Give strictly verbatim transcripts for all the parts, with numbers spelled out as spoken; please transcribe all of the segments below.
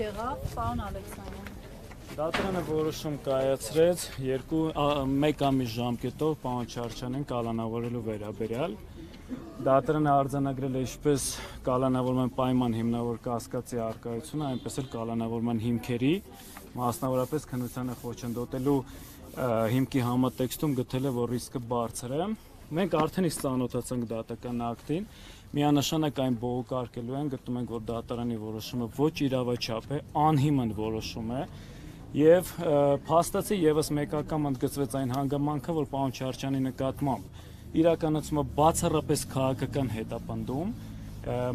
եղավ, պարոն Ալեքսանյան։ Դատարանը որոշում կայացրեց երկու մեկ ամիս ժամկետով պարոն Չարչյանին կալանավորելու վերաբերյալ։ Դատարանը արձանագրել է ինչպես կալանավորման պայման հիմնավոր կասկածի առկայությունը, այնպես էլ կալանավորման հիմքերի, մասնավորապես քննությանը խոչընդոտելու հիմքի համատեքստում գտել է, որ ռիսկը բարձր է։ Մենք արդեն իսկ ծանոթացանք դատական ակտին, միանշանակ այն բողոքարկելու են, գտնում ենք, որ դատարանի որոշումը ոչ իրավաչափ է, անհիմն որոշում է, եւ փաստացի եւս մեկ անգամ ընդգծվեց այն հանգամանքը, որ պարոն Չարչյանի նկատմամբ իրականացումը բացառապես քաղաքական հետապնդում,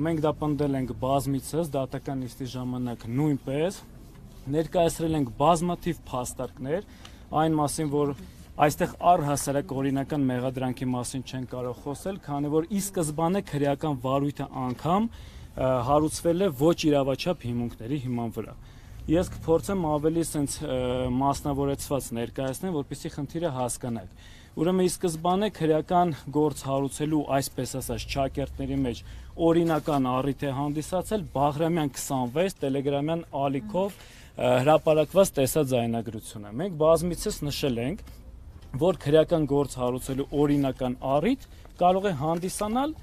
մենք դա պնդել ենք բազմիցս, դատական նիստի ժամանակ նույնպես, ներկայացրել ենք բազմաթիվ փաստարկներ, այն մասին, որ այստեղ առհասարակ օրինական մեղադրանքի մասին չեն կարող խոսել, քանի որ ի սկզբանե քրեական վարույթը անգամ հարուցվել է ոչ իրավաչափ հիմունքների հիման վրա։ Ես կփորձեմ ավելի սենց մասնավորեցված ներկայացնել, որպեսզի խնդիրը հասկանաք։ Ուրեմն ի սկզբանե քրեական գործ հարուցելու, այսպես ասած, ճակերտների մեջ օրինական առիթ է հանդիսացել Բաղրամյան քսանվեց տելեգրամյան ալիքով հրապարակված տեսաձայնագրությունը։ Մենք բազմիցս նշել ենք, որ քրեական գործ հարուցելու օրինական առիթ կարող է հանդիսանալ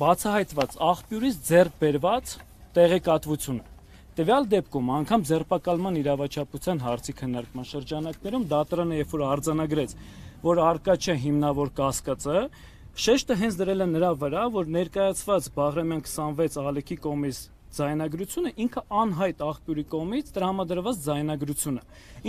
բացահայտված աղբյուրից ձեռք բերված տեղեկատվությունը։ Տվյալ դեպքում անգամ ձերբակալման իրավաչափության հարցի քննարկման շրջանակներում դատարանը երբ որ արձանագրեց, որ առկա չէ հիմնավոր կասկածը, շեշտը հենց դրել է նրա վրա, որ ներկայացված Բաղրամյան քսանվեց ալիքի կողմից ձայնագրությունը ինքը անհայտ աղբյուրի կողմից տրամադրված ձայնագրություն է,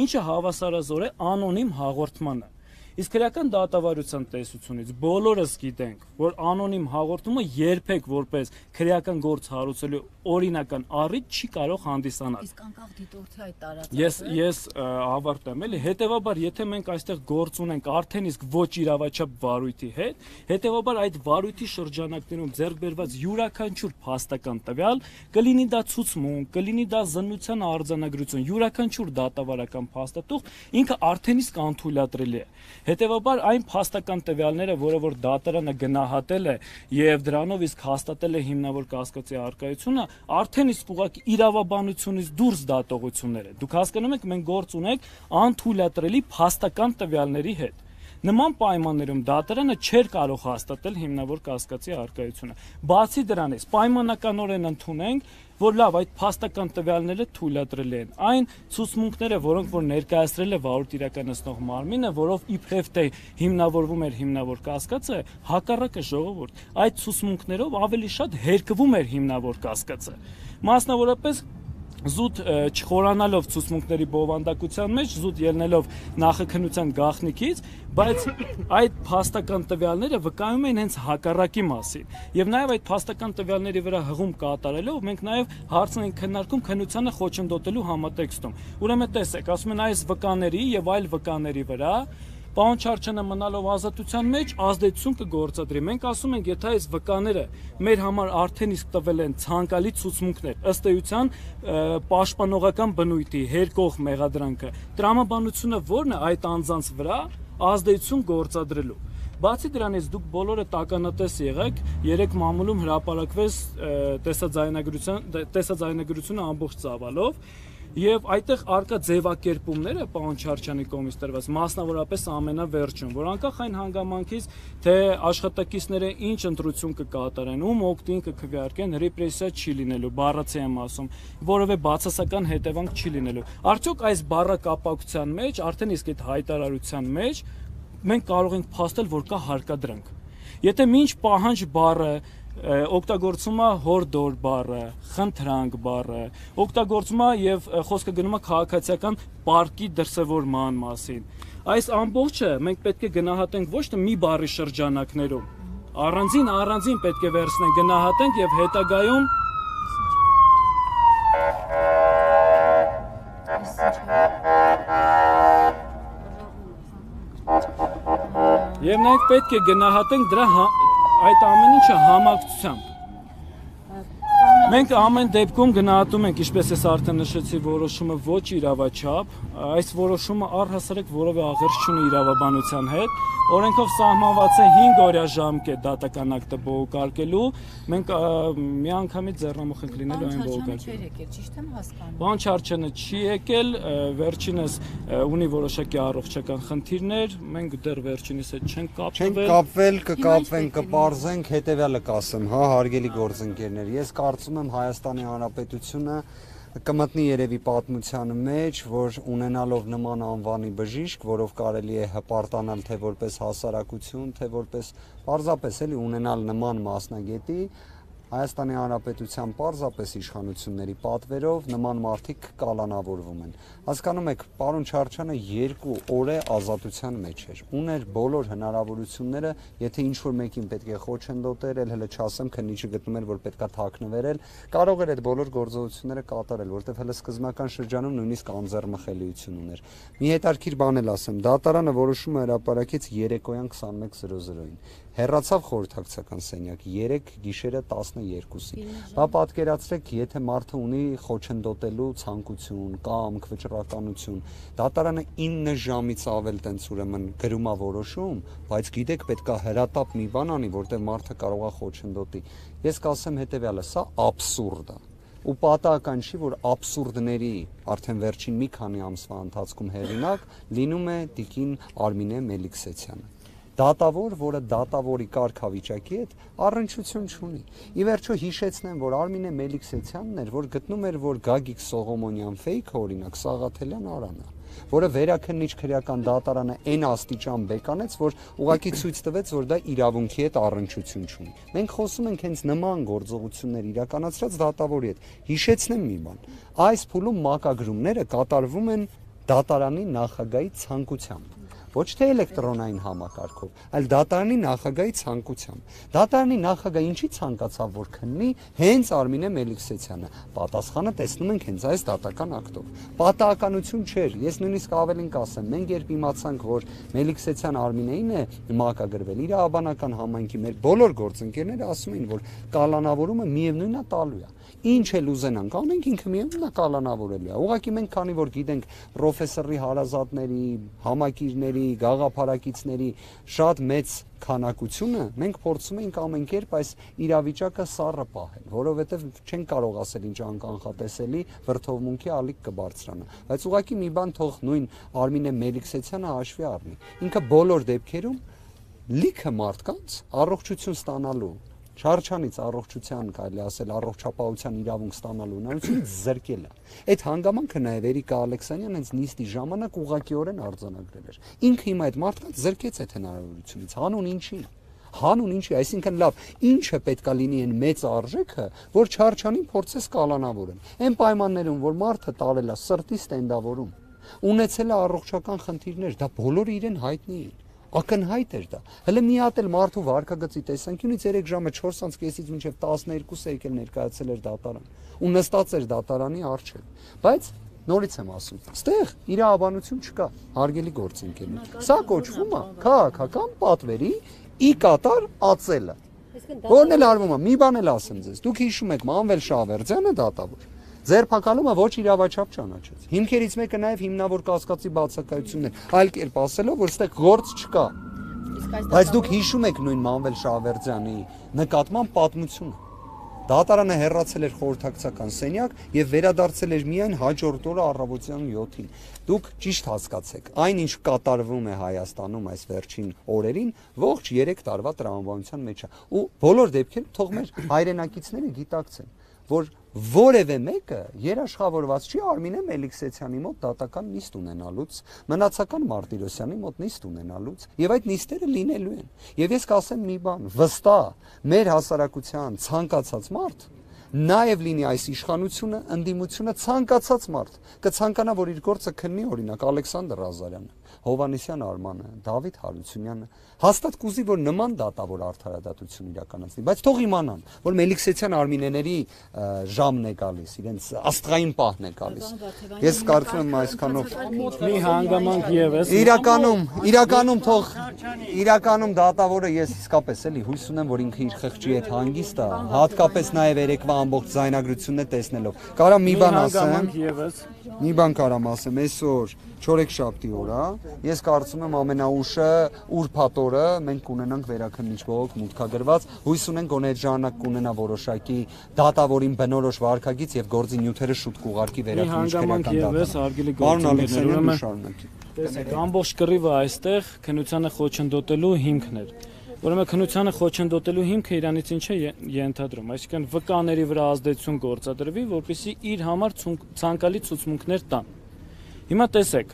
ինչը հավասարազոր է անոնիմ հաղորդմանը։ Իսկ քրեական դատավարության տեսությունից բոլորս գիտենք, որ անոնիմ հաղորդումը երբեք որպես քրեական գործ հարուցելու օրինական առիթ չի կարող հանդիսանալ։ Իսկ անկախ դիտորդի այդ տարածքը։ Ես ես ավարտեմ, էլի, հետեւաբար եթե մենք այստեղ գործ ունենք արդեն իսկ ոչ իրավաչափ վարույթի հետ, հետեւաբար այդ վարույթի շրջանակներում ձեռք բերված յուրաքանչյուր փաստական տվյալ, կլինի դա ցուցմունք, կլինի դա զննության արձանագրություն, յուրաքանչյուր դատավարական փաստաթուղթ ինքը արդեն իսկ անթույլատրելի է։ Հետևաբար այն փաստական տվյալները, որը որ դատարանը գնահատել է եւ դրանով իսկ հաստատել է հիմնավոր կասկածի առկայությունը, արդեն իսկ ուղղակի իրավաբանությունից դուրս դատողություններ են։ Դուք հասկանում եք, մենք գործ ունենք անթույլատրելի փաստական տվյալների հետ։ Նման պայմաններում դատարանը չէր կարող հաստատել հիմնավոր կասկածի առկայությունը։ Բացի դրանից, պայմանականորեն ընդունենք, որ լավ այդ փաստական տվյալները թույլատրել են։ Այն ցուցմունքները, որոնք որ ներկայացրել է վարույթ իրականացնող մարմինը, որով իբրև թե հիմնավորվում էր հիմնավոր կասկածը, հակառակը ժողովուրդ, այդ ցուցմունքներով ավելի շատ հերկվում էր հիմնավոր կասկածը։ Մասնավորապես զուտ չխորանալով ցուցմունքների բովանդակության մեջ, զուտ ելնելով նախաքննության գաղտնիքից, բայց այդ փաստական տվյալները վկայում են հենց հակառակի մասին։ Եվ նաև այդ փաստական տվյալների վրա հղում կատարելով մենք նաև հարցն ենք քննարկում քննությանը խոչընդոտելու համատեքստում։ Ուրեմն տեսեք, ասում են այս վկաների եւ այլ վկաների վրա պարոն Չարչյանը մնալով ազատության մեջ ազդեցություն կգործադրի։ Մենք ասում ենք, եթե այս վկաները մեր համար արդեն իսկ տվել են ցանկալի ցուցմունքներ, ըստ էության պաշտպանողական բնույթի հերկող մեղադրանքը, տրամաբանությունը ո՞րն է այդ անձանց վրա ազդեցություն գործադրելու։ Բացի դրանից դուք բոլորը տականատես եղեք, երեք մամուլում հրապարակվեց տեսաձայնագրության տեսաձայնագրությունը ամբողջ ծավալով։ Եվ այդտեղ արկա ձևակերպումները պարոն Չարչյանի կողմից տրված, մասնավորապես ամենավերջում, որ անկախ այն հանգամանքից, թե աշխատակիցները ինչ ընտրություն կկատարեն, ում օգտին կքվեարկեն, ռեպրեսիա չի լինելու, բառացի եմ ասում, որևէ բացասական հետևանք չի լինելու։ Արդյոք այս բառակապակցության մեջ, արդեն իսկ այդ հայտարարության մեջ մենք կարող ենք փաստել, որ կա հարկադրանք։ Եթե մինչ պահանջ բառը օգտագործում է հորդոր բառը, խնդրանք բառը, օգտագործում է եւ խոսքը գնում է քաղաքացիական պարկի դրսևորման մասին։ Այս ամբողջը մենք պետք է գնահատենք ոչ թե մի բառի շրջանակներում, առանձին առանձին պետք է վերցնենք, գնահատենք եւ հետագայում եւ մենք պետք է գնահատենք դրա այդ ամեն ինչը համակցությամբ։ Պարոն Մենք ամեն դեպքում գնահատում ենք, ինչպես ես արդեն նշեցի, որոշումը ոչ իրավաչափ, այս որոշումը առհասարակ որևէ աղերս չունի իրավաբանության հետ։ Օրենքով սահմանված է հինգ օրյա ժամկետ դատական ակտը բողոքարկելու, մենք միանգամից ձեռնամուխ ենք լինելու այն բողոքարկել։ Ճիշտ եմ հասկանում։ Պարոն Չարչյանը չի եկել, վերջինս ունի որոշակի առողջական խնդիրներ, մենք դեռ վերջինիս հետ չենք կապվել։ Չենք կապվել, կկապվենք, կպարզենք, հետևյալը կասեմ, հա, հարգելի գործընկերներ, ես կարծում եմ Հայաստանի Հանրապետությունը կմտնի երևի պատմության մեջ, որ ունենալով նման անվանի բժիշկ, որով կարելի է հպարտանալ թե որպես հասարակություն, թե որպես պարզապես էլի ունենալ նման մասնագետի, Հայաստանի Հանրապետության պարզապես իշխանությունների պատվերով նման մարդիկ կալանավորվում են։ Հասկանում եք, պարոն Չարչյանը երկու օր է ազատության մեջ էր։ Ուներ բոլոր հնարավորությունները, եթե ինչ-որ մեկին պետք է խոչընդոտեր, էլ հələ չասեմ, քննիչը գտնում էր, որ պետքա թաքնվերել, կարող էր այդ բոլոր գործողությունները կատարել, որտեղ հələ սկզբնական շրջանում նույնիսկ անձեռմխելիություն ուներ։ Մի հետարքիր բան էլ ասեմ, դատարանը որոշումը հրապարակեց երեկոյան քսանմեկ զրո զրոյին։ Հեռացավ խորհրդակցական սենյակ երեք գիշերը տասներկուսին։ Բա պատկերացրեք, եթե մարդը ունի խոչընդոտելու ցանկություն, կամք, վճռականություն, դատարանը ինը ժամից ավել տենց ուրեմն գրում է որոշում, բայց գիտեք, պետքա հրատապ մի բան անի, որտեղ մարդը կարող է խոչընդոտի։ Ես կասեմ հետևյալը, սա աբսուրդ է։ Ու պատահական չի, որ աբսուրդների արդեն վերջին մի քանի ամսվա ընթացքում հեղինակ լինում է տիկին Արմինե Մելիքսեթյանը։ Դատավոր, որը դատավորի կարգավիճակի հետ առնչություն չունի։ Ի վերջո հիշեցնեմ, որ Արմինե Մելիքսեթյանն էր, որ գտնում էր, որ Գագիկ Սողոմոնյան ֆեյքը, օրինակ Սաղաթելյան Արանը, որը վերաքննիչ քրեական դատարանը այն աստիճան բեկանեց, որ ուղղակի ցույց տվեց, որ դա իրավունքի հետ առնչություն չունի։ Մենք խոսում ենք հենց նման գործողություններ իրականացրած դատավորի հետ։ Հիշեցնեմ մի բան։ Այս փուլում մակագրումները կատարվում են դատարանի նախագահի ցանկությամբ։ Ոչ թե էլեկտրոնային համակարգով, այլ դատարանի նախագահի ցանկությամբ։ Դատարանի նախագահը ինչի ցանկացավ, որ քննի հենց Արմինե Մելիքսեթյանը։ Պատասխանը տեսնում ենք հենց այս դատական ակտով։ Պատահականություն չէր, ես նույնիսկ ավելին կասեմ, մենք երբ իմացանք, որ Մելիքսեթյան Արմինեին է մակագրվել, իրավաբանական համայնքի մեր բոլոր գործընկերները ասում էին, որ կալանավորումը միևնույնն է տալու է։ Ինչ էլ ուզենանք անենք, ինքը միևնույնն է կալանավորելու է։ Ուղղակի մենք քանի որ գիտենք պրոֆեսորի հարազատների, համակիրների, գաղափարակիցների շատ մեծ քանակությունը, մենք փորձում ենք ամեն կերպ այս իրավիճակը սառը պահել, որովհետև չեն կարող ասել ինչ անկանխատեսելի վրդովմունքի ալիք կբարձրանա։ Բայց ուղղակի մի բան թող նույն Արմինե Մելիքսեթյանը հաշվի առնի։ Ինքը բոլոր դեպքերում լիքը մարդկանց առողջություն ստանալու Չարչյանից առողջության, կարելի ասել, առողջապահության իրավունք ստանալու հնարավորությունից զրկել է։ Այդ հանգամանքը նաև Էրիկա Ալեքսանյան հենց նիստի ժամանակ ուղղակիորեն արձանագրել էր։ Ինքը հիմա այդ մարդկանց զրկեց այդ հնարավորությունից, հանուն ինչի։ Հանուն ինչի, այսինքն լավ, ինչը պետքա լինի այն մեծ արժեքը, որ Չարչյանին փորձես կալանավորեն։ Այն պայմաններում, որ մարդը տարել է սրտի ստենդավորում, ունեցել է առողջական խնդիրներ, դա բոլորը իրեն հայտնի են։ Ակնհայտ էր դա։ Հələ մի հատ էլ մարդու վարկագծի տեսանկյունից երեք ժամը չորս կեսից մինչև տասներկուսը եկել ներկայացել էր դատարան ու նստած էր դատարանի առջև։ Բայց նորից եմ ասում, ստեղ իրավաբանություն չկա, հարգելի գործընկերներ։ Սա կոչվում է քաղաքական պատվերի ի կատար ածելը։ Որն էլ արվում է, մի բան էլ ասեմ ձեզ։ Դուք հիշում եք Մանվել Շավերձյանը դատավոր։ Ձերբակալումը ոչ իրավաչափ ճանաչեց։ Հիմքերից մեկը նաև հիմնավոր կասկածի բացակայությունն է, այլ կերպ ասելով, որ ստեղ գործ չկա։ Բայց դուք հիշում եք նույն Մանվել Շավերձյանի նկատմամբ պատմությունը։ Դատարանը հեռացել էր խորհրդակցական սենյակ եւ վերադարձել էր միայն հաջորդ օրը առավոտյան յոթին։ Դուք ճիշտ հասկացեք, այնինչ կատարվում է Հայաստանում այս վերջին օրերին, ողջ երեք տարվա տրամաբանության մեջ է։ Ու բոլոր դեպքերում թող մեր հայրենակիցները գիտակցեն, որ որևէ մեկը երաշխավորված չի Արմինե Մելիքսեթյանի մոտ դատական նիստ ունենալուց, մնացական Մարտիրոսյանի մոտ նիստ ունենալուց, եւ այդ նիստերը լինելու են։ Եվ ես կասեմ մի բան, վստահ մեր հասարակության ցանկացած մարդ նաև լինի այս իշխանությունը, ընդդիմությունը ցանկացած մարդ կցանկանա, որ իր գործը քննի, օրինակ Ալեքսանդր Ղազարյանը, Հովհաննիսյան Արմանը, Դավիթ Հարությունյանը, հաստատ կուզի, որ նման դատավոր արդարադատություն իրականացնի, բայց թող իմանան, որ Մելիքսեթյան Արմինեների ժամն է գալիս, իրենց աստղային պահն է գալիս։ Ես կարծում եմ այսքանով մի հանգամանք եւս։ Իրականում, իրականում թող իրականում դատավորը ես իսկապես էլի հույս ունեմ, որ ինքը իր խղճի հետ հանգիստ է, հատկապես նաև երեկվա ամբողջ ձայնագրությունն է տեսնելով։ Կարա մի բան ասեմ։ Մի բան կարամ ասեմ, այսօր չորեքշաբթի օր է, ես կարծում եմ ամենաուշը ուրբաթ օրը մենք կունենանք վերաքննիչ բողոք մուտքագրված, հույս ունենք գոնե այդ ժամանակ կունենա որոշակի դատավորին բնորոշ վարքագիծ եւ գործի նյութերը շուտ կուղարկի վերաքննիչ քննարկման։ Պարոն Ալեքսանյան, շարունակի։ Տեսեք, ամբողջ կռիվը այստեղ քննությանը խոչընդոտելու հիմքն էր։ Ուրեմն քննությանը խոչընդոտելու հիմքը իրանից ինչ է ենթադրում, այսինքն վկաների վրա ազդեցություն գործադրվի, որպեսզի իր համար ցանկալի ցուցմունքներ տան։ Հիմա տեսեք,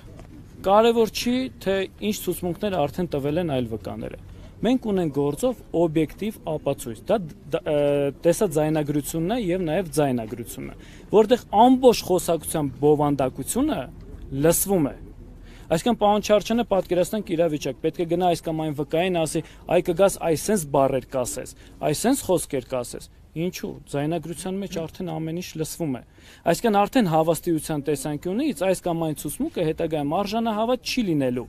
կարևոր չի, թե ինչ ցուցմունքներ արդեն տվել են այլ վկաները։ Մենք ունենք գործով օբյեկտիվ ապացույց, դա տեսաձայնագրությունն է եւ նաեւ ձայնագրությունն է, որտեղ ամբողջ խոսակցության բովանդակությունը լսվում է։ Այսինքն պարոն Չարչյանը պատկերացնենք իրավիճակ, պետք է գնա այս կամ այն վկային ասի, այ կգաս այսենց բառեր կասես, այսենց խոսքեր կասես։ Ինչու՞, ձայնագրության մեջ արդեն ամեն ինչ լսվում է։ Այսինքն արդեն հավաստիության տեսանկյունից այս կամ այն ցուցմունքը հետագայում արժանահավատ չի լինելու։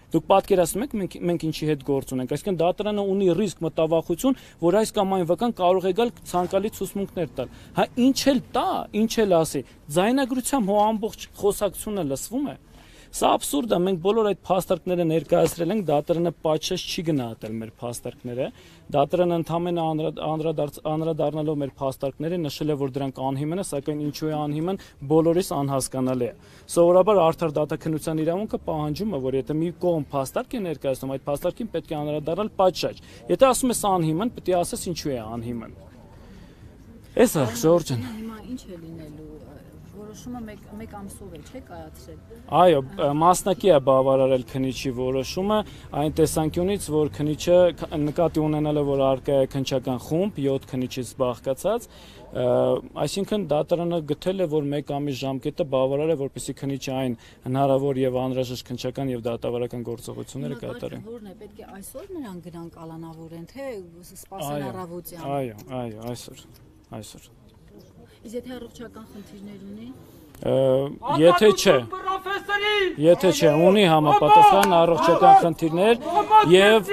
Դուք պատկերացնում եք մենք մենք ինչի հետ գործ ունենք, այսինքն դատարանը ունի ռիսկ մտավախություն, որ այս կամ այն վկան կարող է գալ ցանկալի ցուցմունքներ տալ։ Հա ինչ էլ տա, ինչ էլ ասի, ձայնագրությամբ հո ամբողջ խոսակցությունը լսվում է։ Սա աբսուրդ է, մենք բոլոր այդ փաստարկները ներկայացրել ենք, դատարանը պատշաճ չի գնահատել մեր փաստարկները, դատարանը ընդհանրապես անդրադառնալով մեր փաստարկները նշել է, որ դրանք անհիմն է, սակայն ինչու է անհիմն, բոլորիս անհասկանալի է։ Սովորաբար արդար դատաքննության իրավունքը պահանջում է, որ եթե մի կողմ փաստարկ է ներկայացնում, այդ փաստարկին պետք է անդրադառնալ պատշաճ։ Եթե ասում ես անհիմն, պետք է ասես ինչու է անհիմն։ Էս է, Ժորժ ջան։ Հիմա ինչ է լինելու։ Որոշումը մեկ ամսով է, չէ՞ կայացրել։ Այո, մասնակի է բավարարել քննիչի որոշումը այն տեսանկյունից, որ քննիչը նկատի ունենալով, որ առկա է քննչական խումբ յոթ քննիչից բաղկացած, այսինքն դատարանը գտել է, որ մեկ ամիս ժամկետը բավարար է, որպեսզի քննիչը այն հնարավոր եւ անհրաժեշտ քննչական եւ դատավարական գործողությունները կատարի։ Որն է, պետք է այսօր նրան գնան կալանավորեն, թե սպասեն առավոտյան։ Այո, այո, այսօր, այսօր։ Իսկ եթե առողջական խնդիրներ ունի։ Եթե չէ, եթե չէ, ունի համապատասխան առողջական խնդիրներ եւ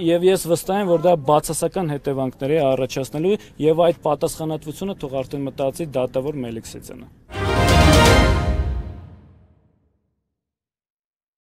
եւ ես վստահ եմ, որ դա բացասական հետևանքներ է առաջացնելու եւ այդ պատասխանատվությունը թող արդեն մտածի դատավոր Մելիքսեյցյանը։